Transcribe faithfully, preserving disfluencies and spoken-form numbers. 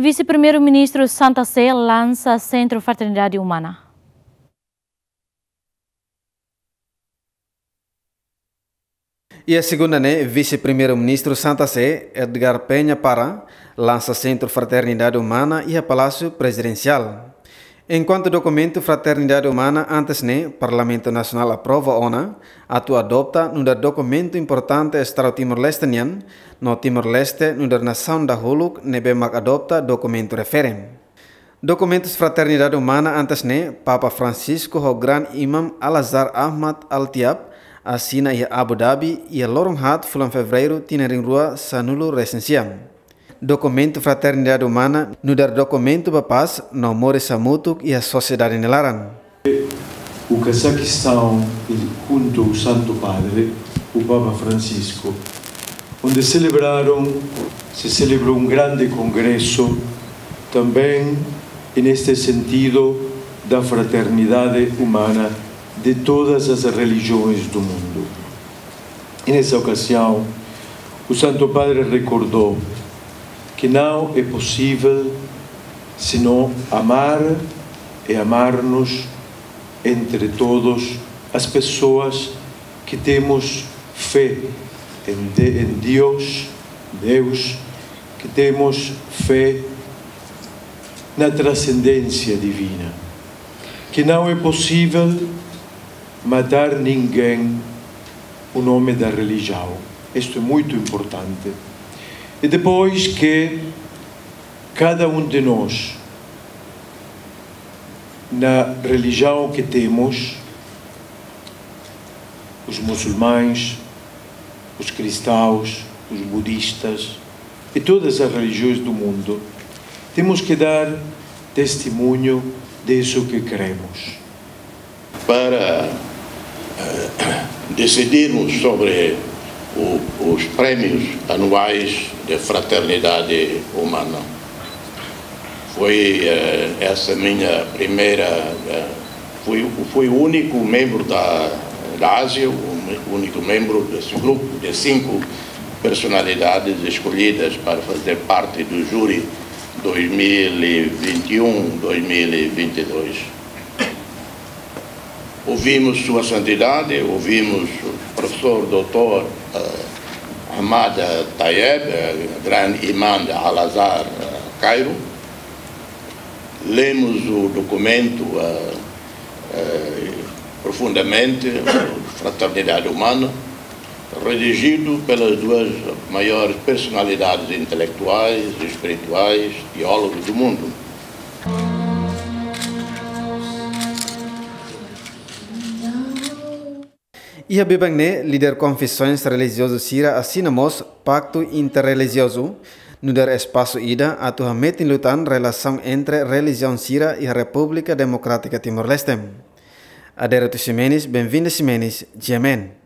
Vise-Primeiru-Ministru Santa Sé lansa Sentru Fraternidade Umana. Iha segunda ne'e, Vise-Primeiru-Ministru Santa Sé, Edgar Penha Parra, lansa Sentru Fraternidade Umana iha Palásiu Prezidensiál. Enkuantu dokumentu Fraternidade Umana antes ne'e, Parlamentu Nasionál aprova ona, atu adopta nu'udar dokumentu importante Estadu Timor-Leste nian, no Timor-Leste nu'udar nasaun dahuluk ne'ebé mak adopta dokumentu refere. Dokumentus Fraternidade Umana antes ne'e, Papa Francisco ho Gran Imam Al-Azhar Ahmad Al-Tayeb asina iha Abu Dhabi, iha loron haat fulan Fevereiru tinan rihun rua sanulu resin sia. Dokumentu Fraternidade Umana nu'udar dokumentu ba pás no moris hamutuk iha sosiedade nia laran. O Cazaquistão, junto ao Santo Padre, o Papa Francisco, onde celebraram, se celebrou um grande congresso também, e neste sentido, da fraternidade humana de todas as religiões do mundo. E nessa ocasião, o Santo Padre recordou que não é possível senão amar e amar-nos entre todos as pessoas que temos fé em, de, em Deus, Deus, que temos fé na transcendência divina, que não é possível matar ninguém o nome da religião. Isto é muito importante. E depois que cada um de nós, na religião que temos, os muçulmanos, os cristãos, os budistas e todas as religiões do mundo, temos que dar testemunho disso que cremos. Para eh, decidirmos sobre o, os prémios anuais de fraternidade humana. Foi eh, essa minha primeira. Eh, fui, fui o único membro da, da Ásia, o único membro desse grupo de cinco personalidades escolhidas para fazer parte do júri dois mil e vinte e um, dois mil e vinte e dois. Ouvimos Sua Santidade, ouvimos o professor doutor eh, Ahmad Tayeb, eh, grande imã de Al-Azhar, eh, Cairo. Lemos o documento eh, eh, profundamente, Fraternidade Humana, redigido pelas duas maiores personalidades intelectuais, espirituais, teólogos do mundo. Iha biban ne'e, líder konfesoens relijiozu sira asina mós paktu interrelijiozu, nu'udar espasu ida atu hametin liután relasaun entre relijiaun sira iha Repúblika Demokrátika Timor-Leste. Adérito Ximenes, Benvinda Ximenes, G M N.